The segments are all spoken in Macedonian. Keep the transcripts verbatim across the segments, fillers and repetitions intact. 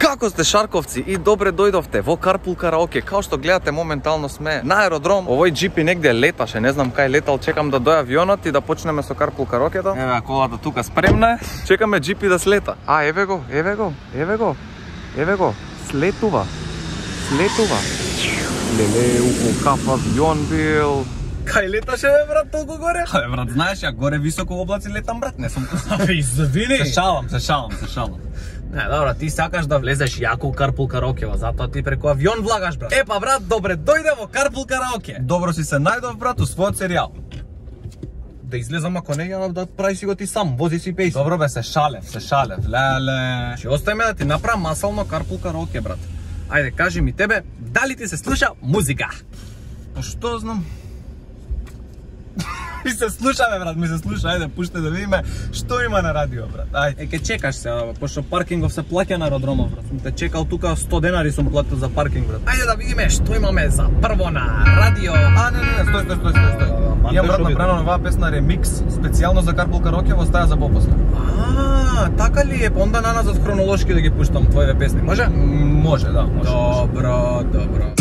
Како сте шарковци и добре дојдовте во Carpool Karaoke. Као што гледате, моментално сме на аеродром. Овој джипи негде леташе, не знам кај летал, чекам да дојде авионот и да почнеме со Carpool Karaoke-то. Еве колата тука спремна е. Чекаме джипи да слета. А еве го, еве го, еве го. Еве го, слетува. Слетува. Леле, у каф авион бил. Кај леташе, бе, брат, толку горе? Абе, брат, знаеш, ја горе високо во облаци летам, брат, не сум... Абе, извини! Се шалам, се шалам, се шалам. Не, добро, ти сакаш да влезеш јако у Carpool Karaoke, затоа ти преку авион влагаш, брат. Епа, брат, добре, дојде во Carpool Karaoke. Добро си се најдов, брат, у својот серијал. Да излезам, ако не ја да прави си го ти сам, вози си пејси. Добро бе, се шалев, се шалев, леле. Ще оставиме да ти направам масално Carpool Karaoke, брат. Ајде, кажи ми тебе, дали ти се слуша музика? Па што знам? Ми се слушаме, брат, ми се слуша, ајде, пуште да видиме што има на радио, брат, ајде. Е, ке чекаш се, пошто паркингов се плаќа на аеродромов, брат. Сум те чекал тука сто денари сум платил за паркинг, брат. Ајде да видиме што имаме за прво на радио. А, не, не, не, стој, стој, стој, стој, стој. Имам, брат, направено оваа песна ремикс, специјално за Carpool Karaoke во стаја за попоска. А, така ли е? Онда на назад хронолошки да ги пуштам твоите песни, може? Може, да, може. Добро, добро.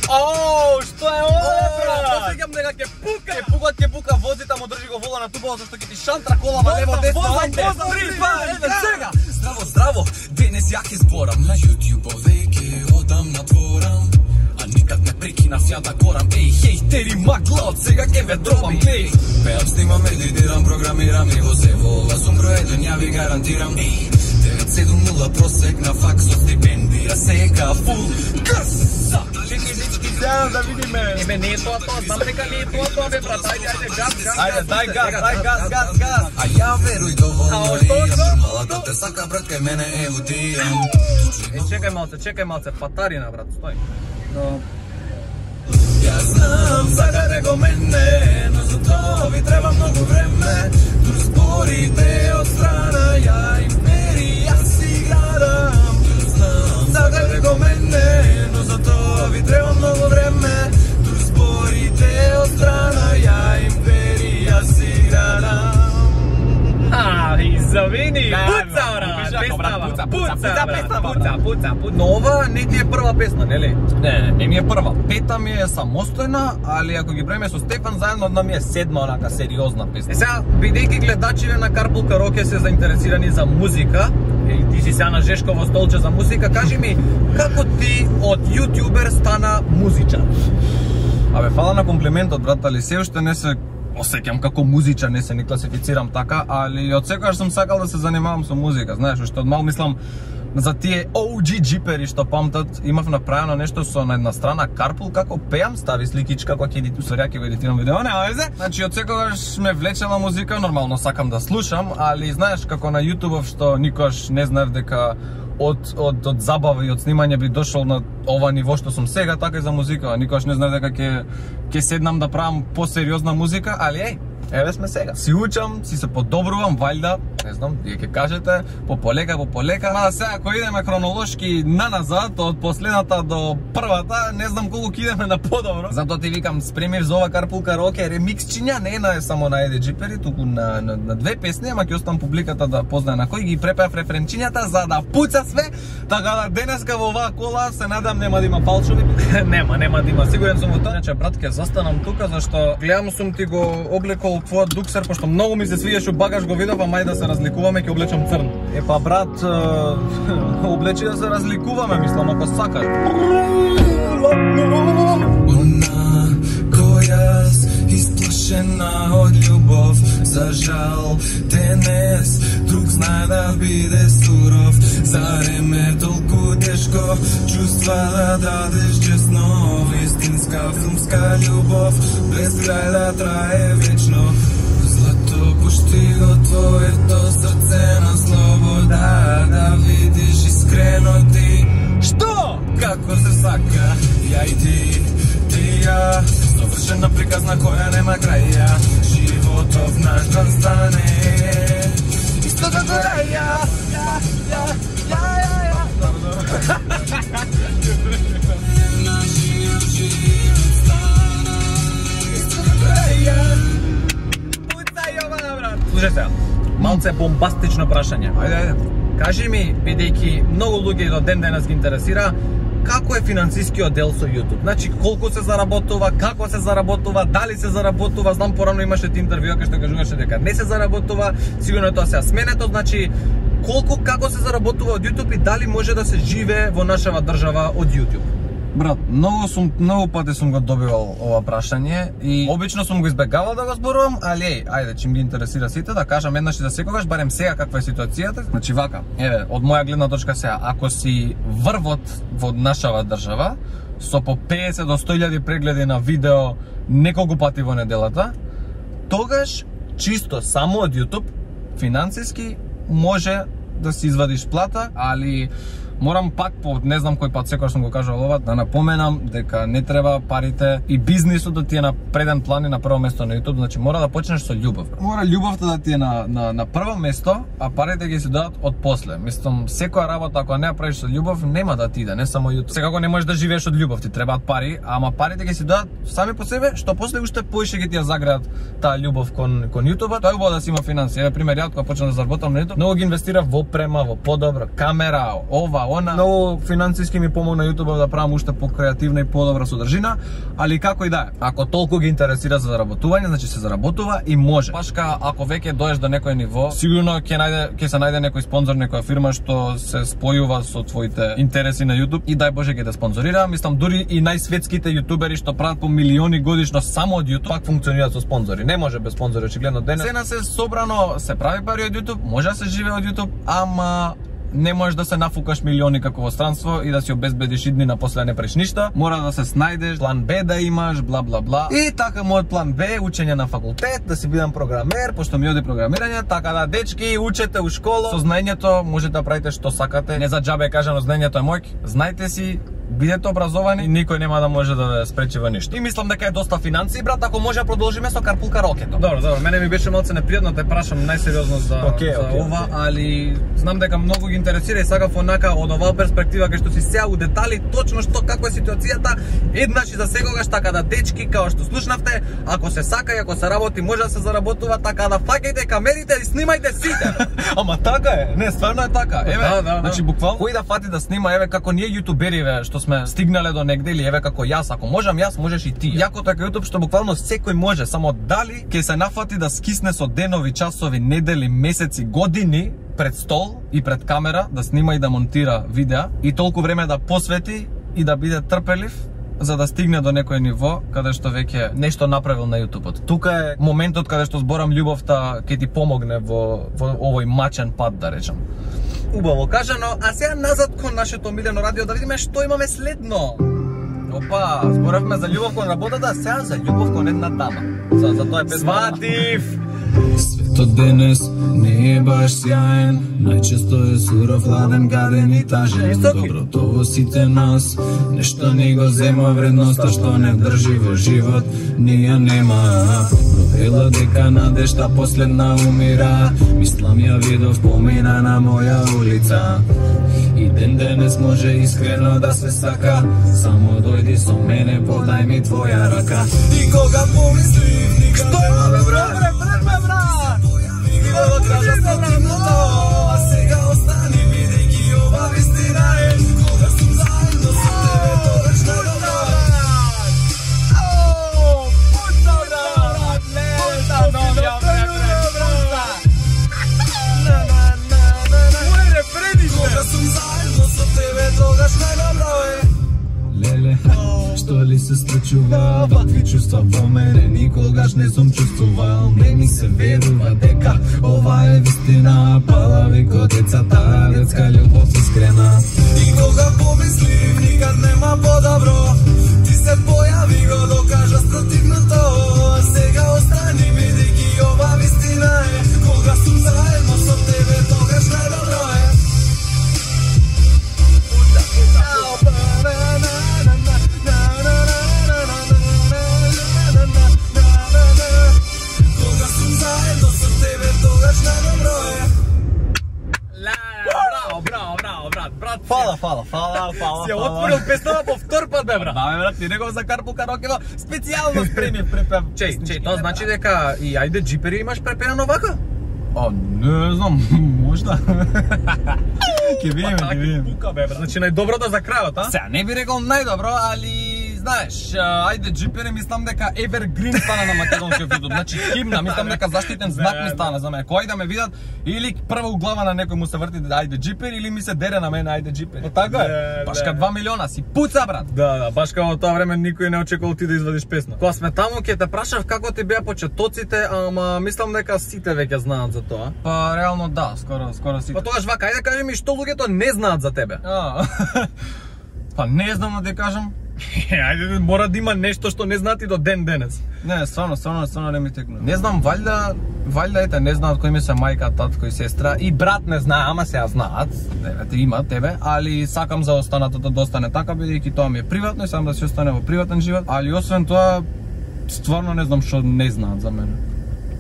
Оу, што е ова, брат? Посеќам дека ќе пука. Ќе пука, ќе пука, вози тамо, држи го вола на тубава зашто ќе ти шантра колава лево десно. Ајде, три, два, еден, сега. Здраво, здраво, денес ја ќе зборам на YouTube-ове ќе одам на дворам. А никад не прекинав ја да горам. Еј, хејтери, магла, од сега ќе ве дробам. Еј, пеам, снимам, едитирам, програмирам и во се во ова сум број еден, ја ви гарантирам. Еј, девет седум нула просек на факсот стипендија, сега фул грс. Чекай, дечки, сега да видиме. Еме, не е тоа тоа, знам дека не е тоа тоа, бе, брат. Ајде, ајде, газ, газ, ајде, дај газ, дај газ, газ, газ. А ја веруј доволно и нормалата те сака, брат, кај мене е утијам. Е, чекај малце, чекај малце, патарина, брат, стој. Ја знам, сакате го мене, но за тоа ви треба многу време. Тур спорите од страна, ја империја си градам. Ја знам, сакате го мене, но за тоа ви треба многу време. Тур спорите од страна, ја империја си градам. А, извини, пуца, брат, пуца, пуца, пуца, пуца, пуца. Но ова не ти е прва песна, нели? Не, не ми е прва. Пета ми е самостојна, али ако ги бреме со Стефан заедно, одна ми е седма онака сериозна песна. Е сега, бидејќи гледачите на Carpool Karaoke се заинтересирани за музика, и ти си сега на Жешково столче за музика, кажи ми, како ти од јутјубер стана музичар? Абе, фала на комплиментот, брат, али се уште не се осеќам како музичар, не се не класифицирам така, али од секогаш сум сакал да се занимавам со музика, знаеш, уште од мал мислам за тие О Џи джипери што памтат, имав направено нешто со на една страна Carpool како пеам, стави сликичка кога ќе едитирам, сорија ќе го едитирам видео, не везе. Значи од секогаш ме влечела музика, нормално сакам да слушам, али знаеш како на YouTube што никош не знаев дека од од од забава и од снимање би дошол на ова ниво што сум сега, така и за музика. Никош не знаев дека ќе ќе седнам да правам посериозна музика, али еј, еве сме сега. Си учам, си се подобрувам, вајда, не знам, вие ќе кажете, по полека, по полека. Мада сега ако идеме хронолошки наназад, од последната до првата, не знам колку ќе идеме на подобро. Затоа ти викам, спремив за ова Carpool Karaoke ремиксчиња, не на само на еден джипери, туку на, на, на две песни, ама ќе оставам публиката да познае на кој ги препеав референчињата за да пуца све, така да денеска во оваа кола се надам нема да има фалшови. Нема, нема да има, сигурен сум во тоа. Иначе, брат, ќе застанам тука зашто гледам сум ти го облекол твојот дуксер, пошто многу ми се свиеш у багаж, го видов, а мај да се разликуваме, ќе облечам црн. Епа, брат, облечи да се разликуваме, мислам, ако сакаш. Она којас исплашена од љубов, за жал денес друг знае да биде суров. Зарем е толку тешко чувства да дадеш честно, вистинска филмска љубов без крај да трае вечно. Злато пушти го твоето срце на слобода, да видиш искрено ти што како се сака. Ја и ти, ти ја, совршена приказна која нема краја. Животов наш да стане исто како ја, ја, ја, ја, ја, ја. Нашиот живот стана исто како ја. Пуцај ова, брат. Слушај сега, малце бомбастично прашање. Ајде, ајде. кажи ми, бидејќи многу луѓе до ден денес ги интересира, како е финансискиот дел со YouTube? Значи, колку се заработува, како се заработува, дали се заработува? Знам порано имаше ти интервјуа кај што кажуваше дека не се заработува, сигурно е тоа се сменето, значи колку, како се заработува од YouTube и дали може да се живее во нашава држава од YouTube? Брат, многу сум многу пати сум го добивал ова прашање и обично сум го избегавал да го зборувам, али еј, ајде, чим ги интересира сите, да кажам еднаш и за секогаш, барем сега каква е ситуацијата. Значи вака, еве, од моја гледна точка сега, ако си врвот во нашава држава, со по петдесет до сто илјади прегледи на видео неколку пати во неделата, тогаш чисто само од YouTube финансиски може да си извадиш плата, али морам пак по не знам кој пат секогаш сум го кажал ова да напоменам дека не треба парите и бизнисот да ти е на преден план и на прво место на YouTube, значи мора да почнеш со љубов. Мора љубовта да ти е на на на прво место, а парите ги се дадат од после. Мислам, секоја работа ако не ја правиш со љубов нема да ти иде, не само YouTube. Секако не можеш да живееш од љубов, ти требаат пари, ама парите ги се дадат сами по себе, што после уште поише ги ти ја загреат таа љубов кон кон YouTube. Тоа е убаво да си има финансии. Еве пример, ја кога почнав да заработам на YouTube, многу ги инвестирав во опрема, во подобра камера, ова, она. Многу финансиски ми помогна YouTube да правам уште покреативна и подобра содржина, али како и да е. Ако толку ги интересира за заработување, значи се заработува и може. Башка ако веќе доеш до некој ниво, сигурно ќе најде ќе се најде некој спонзор, некоја фирма што се спојува со твоите интереси на YouTube и дај Боже ќе те спонзорира. Мислам дури и најсветските јутубери што прават по милиони годишно само од YouTube, пак функционираат со спонзори. Не може без спонзори очигледно денес. Сена се собрано, се прави пари од YouTube, може да се живее од YouTube, ама не можеш да се нафукаш милиони како во странство и да си обезбедиш идни на после не преш ништа. Мора да се снајдеш, план Б да имаш, бла бла бла. И така мојот план Б е учење на факултет, да си бидам програмер, пошто ми оди програмирање, така да дечки учете у школа. Со знаењето можете да правите што сакате. Не за џабе кажано знаењето е мојк. Знајте си, бидете образовани и никој нема да може да ве спречи во ништо. И мислам дека е доста финансии, брат, ако може да продолжиме со карпул караокето. Добро, добро, мене ми беше малце непријатно да те прашам најсериозно за, okay, за okay, ова, okay. Али знам дека многу ги интересира и сакав онака од оваа перспектива кај што си сега у детали точно што како е ситуацијата, еднаш и за секогаш, така да дечки, као што слушнавте, ако се сака и ако се работи, може да се заработува, така да фаќајте камерите и снимајте сите. Ама така е, не, стварно е така. Еве, да, да, значи буквално кој да фати да снима, еве како ние јутубериве што сме стигнале до негде или еве како јас, ако можам јас, можеш и ти. Јакото е кај YouTube што буквално секој може, само дали ќе се нафати да скисне со денови, часови, недели, месеци, години пред стол и пред камера да снима и да монтира видеа и толку време да посвети и да биде трпелив за да стигне до некој ниво каде што веќе нешто направил на YouTube-от. Тука е моментот каде што зборам љубовта ќе ти помогне во, во овој мачен пат, да речам. Убаво кажано, а сега назад кон нашето омилено радио да видиме што имаме следно. Опа, зборавме за љубов кон работата, сега за љубов кон една дама. За, за тоа е песма. Сватив! Светот денес не е баш сјаен, најчесто е суров, ладен, гаден и тажен. Доброто во сите нас, нешто не го зема вредноста што не држи во живот, ни ја нема. Провела дека надежта последна умира, мислам ја видов помина на моја улица. И ден денес може искрено да се сака, само дојди со мене, подај ми твоја рака. И кога помислим, никад нема да добре, брат, брат! Го кажа стотивното, а сега остани бидејќи ова вистина е. Кога сум заедно со тебе, тогаш не добро. Ау, пута брат, пута новија брат. На на на на на. Моје предиште. Кога сум заедно со тебе, тогаш не добро е. Леле, што ли се случува, вакви чувства во мене никогаш не сум чувствувал. Не ми се верува дека ова е вистина, палави ко децата, детска љубов искрена. И кога помислим, никад нема подобро, ти се појави го докажа спротивното. Сега остани бидејќи ова вистина е. Кога сум заедно со тебе, тогаш најдобро е. Фала, фала, фала, фала. Си ја отворил песната по втор пат, бе, брат. Да, бе, брат, ти него за карпул караокево специјално спремив препев. Чеј, чеј, тоа значи дека и ајде джипери имаш препеано вака? А, не знам, можда. Ке видиме, ке видиме. Пука бе, значи најдоброто за крајот, а? Сега, не би рекол најдобро, али знаеш, ајде джипере, мислам дека Evergreen стана на македонскиот видот. Значи химна, мислам дека заштитен знак ми стана за мене. Кој да ме видат или прво у глава на некој му се врти ајде джипер или ми се дере на мене ајде джипер. Па така е. Баш ка два милиона си пуца, брат. Да, да, баш као во тоа време никој не очекувал ти да извадиш песна. Кога сме таму ќе те прашав како ти беа почетоците, ама мислам дека сите веќе знаат за тоа. Па реално да, скоро скоро сите. Па тогаш вака, ајде кажи ми што луѓето не знаат за тебе. А, па не знам да ти кажам. Ајде, мора да има нешто што не знаат и до ден денес. Не, стварно, стварно, стварно не ми текна. Не знам, валјда, валјда ете не знаат кои ми се мајка, татко и сестра и брат не знае, ама сега знаат. Еве, има тебе, али сакам за останатото да остане така бидејќи тоа ми е приватно и сакам да си остане во приватен живот, али освен тоа стварно не знам што не знаат за мене.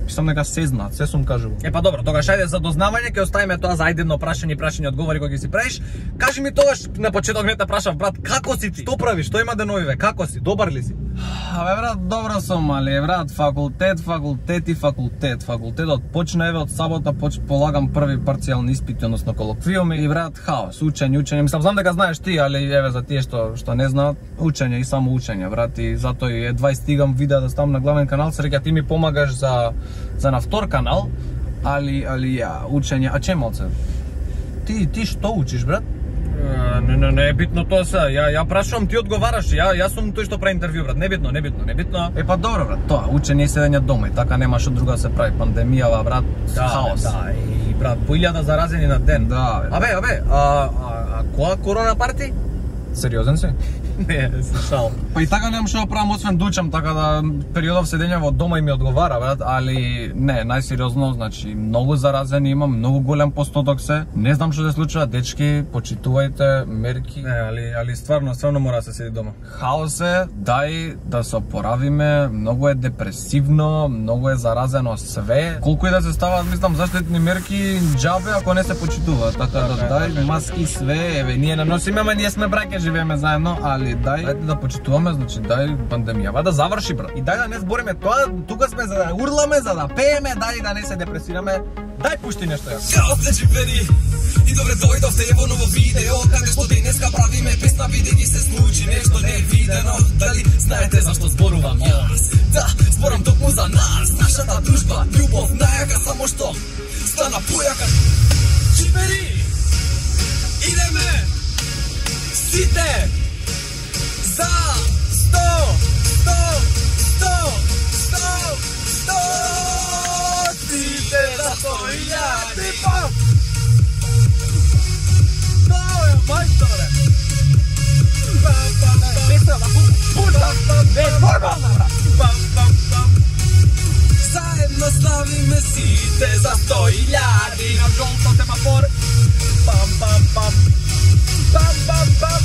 Мислам дека се знаат, се сум кажувал. Е па добро, тогаш ајде за дознавање ќе оставиме тоа за ајдено прашање и прашање одговори кои ќе си правиш. Кажи ми тогаш на почеток не те прашав брат, како си ти? Што правиш? Што има деновиве? Како си? Добар ли си? Абе брат, добро сум, али брат, факултет, факултет и факултет. Факултетот почна еве од сабота, поч полагам први парцијални испити, односно колоквиуми и брат, хаос, учење, учење. Мислам знам дека знаеш ти, али еве за тие што што не знаат, учење и само учење, брат, и затоа и едва и стигам видео да ставам на главен канал, среќа ти ми помагаш за за на втор канал, али али ја учење, а чемалце. Ти ти што учиш, брат? Не, не, не е битно тоа се. Ја ја прашувам, ти одговараш. Ја јас сум тој што прави интервју, брат. Не битно, не битно, не битно. Е па добро, брат. Тоа учење и седење дома и така нема што друго да се прави. Пандемијава, брат, да, хаос. Да, и брат, по илјада заразени на ден. Да, бе. Абе, абе, а а, а која корона парти? Сериозен си? Не, се шал. Па и така немам што да правам освен да учам, така да периодов седење во дома и ми одговара, брат, али не, најсериозно, значи многу заразени имам, многу голем постоток се. Не знам што се случува, дечки, почитувајте мерки. Не, али али стварно, стварно мора да се седи дома. Хаос е, дај да се опоравиме, многу е депресивно, многу е заразено све. Колку и да се ставаат, мислам, заштитни мерки, џабе ако не се почитува, така да дај маски све, еве ние не носиме, ама ние сме браќа, живееме заедно, али дај, дај да почитуваме, значи дај пандемијава да заврши, брат. И дај да не збориме тоа, тука сме за да урламе, за да пееме, дај да не се депресираме. Дај пушти нешто ја. Чао, джипери, и добре дојдовте ево ново видео, каде што денеска правиме песна, бидејќи се случи нешто невидено. Дали знаете зашто зборувам јас? Да, зборам токму за нас, нашата дружба, љубов, најака, само што стана појака. Джипери, идеме, сите, за сто, сто, сто, сто, сто, сите за сто илјади, пам! Тоа е мајсторе! Пам, пам, пам! Песна на пута! Не, нормална, брат! Пам, пам, пам! Заедно славиме сите за сто илјади! На жолто семафор! Пам, пам, пам! Пам, пам, пам!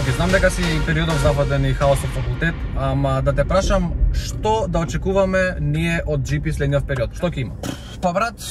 Океј, знам дека си периодов западен и хаос од факултет, ама да те прашам, што да очекуваме ние од джи пи следниот период? Што ќе има? Па брат,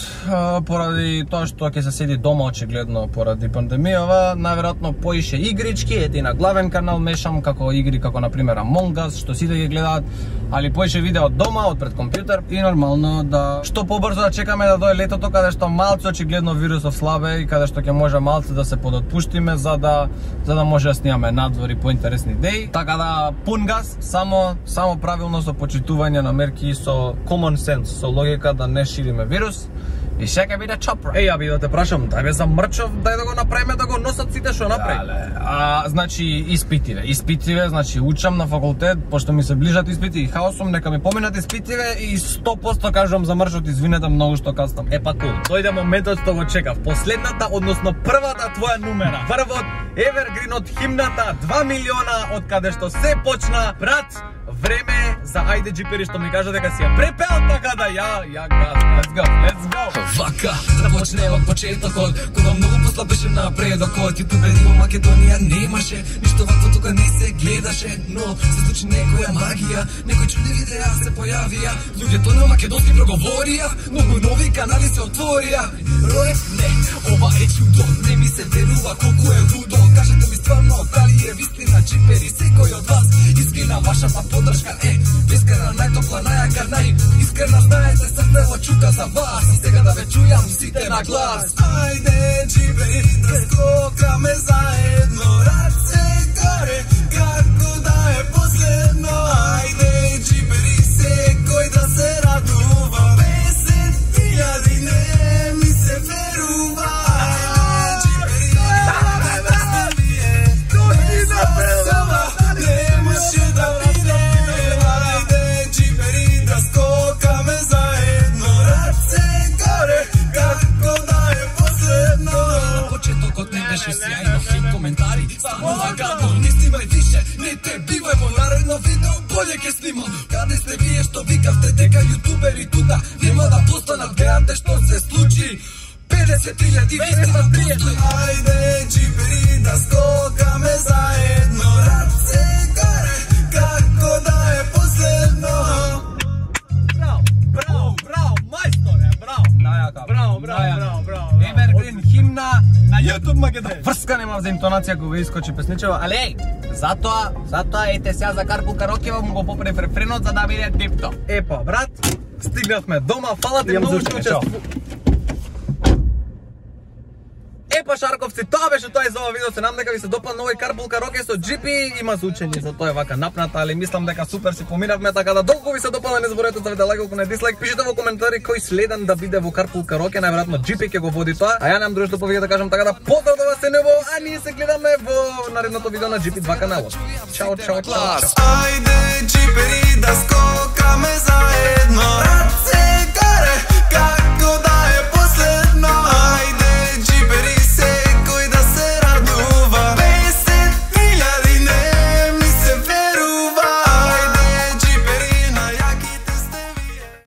поради тоа што ќе се седи дома очигледно поради пандемијава, најверојатно поише игрички, ети на главен канал мешам како игри како на пример Among Us, што сите ги гледаат, али поише видео од дома, од пред компјутер и нормално да што побрзо да чекаме да дое летото каде што малце очигледно вирусов слабе и каде што ќе може малце да се подотпуштиме за да за да може да снимаме надвор и поинтересни идеи. Така да пун газ, само само правилно со почитување на мерки, со common sense, со логика да не шириме вирус. И ще ќе биде чопра. Еј, аби да те прашам, дај бе за мрчов, дај да го направиме да го носат сите што направи. Дале, а значи испитиве, испитиве, значи учам на факултет, пошто ми се ближат испити и хаосом, нека ми поминат испитиве и сто проценти кажувам за мрчот, извинете многу што кастам. Е па кул, дојде моментот што го чекав. Последната, односно првата твоја numera. Првот Evergreen од химната, два милиона од каде што се почна, брат. време за ајде джипери што ми кажа дека си ја препел, така да ја, ја газ, let's go, let's go. Вака, започне од почетокот, кога многу послабеше напредокот. Јутубери во Македонија немаше, ништо вакво тука не се гледаше, но се случи некоја магија, некои чудни видеа се појавија, луѓето на македонски проговорија, многу нови канали се отворија. Рој, не, ова е чудо, не ми се верува колку е лудо. Кажете ми стварно, дали е вистина джипери, секој од вас, искрена вашата подршка е, искрена најтопла, најака, најискрена, знаете срце во чука за вас, а сега да ве чујам сите на глас. Ајде джипери, да скокаме заедно, раце горе, како да е последно. Ајде джипери, секој да се радува, песет илјади не ми се верува. Ајде джипери, да ставие, тој на песова, немаше да виде. Ајде джипери, да скокаме заедно, раце горе, како да е последно. На почетокот не беше сјајно, хейт коментари, станува гадно, не снимај више, не те бивај во наредно видео, болje ке снимам. Каде сте вие што викавте дека јутубери тука нема да постанат, гледате што се случи, педесет илјади вистина постои. Ајде джипери, да скокаме заедно, раце горе, како да е последно. Браво, браво, браво, мајсторе, браво. Најака. Браво, браво, браво, браво. Evergreen химна на YouTube Македонија. Врска нема за интонација кога искочи песничева, али еј, затоа, затоа ете сега за Карпул Карокева му го поправив рефренот за да биде дипто. Епа, брат, стигнавме дома, фала ти многу што учествував. Епа шарковци, тоа беше тоа и за ова видео. Се надам дека ви се допадна овој Карпул Кароке со джипи, има звучење, за тоа е вака напната, али мислам дека супер си поминавме, така да долго ви се допадна, не заборавајте да ставите лайк, ако не дислайк, пишете во коментари кој следен да биде во Карпул Кароке, најверојатно джипи ќе го води тоа. А ја немам друго што повеќе да кажам, така да поздрав до вас се нево, а ние се гледаме во наредното видео на джипи два каналот. Чао, чао, чао. Ајде джипери, да скокаме заедно.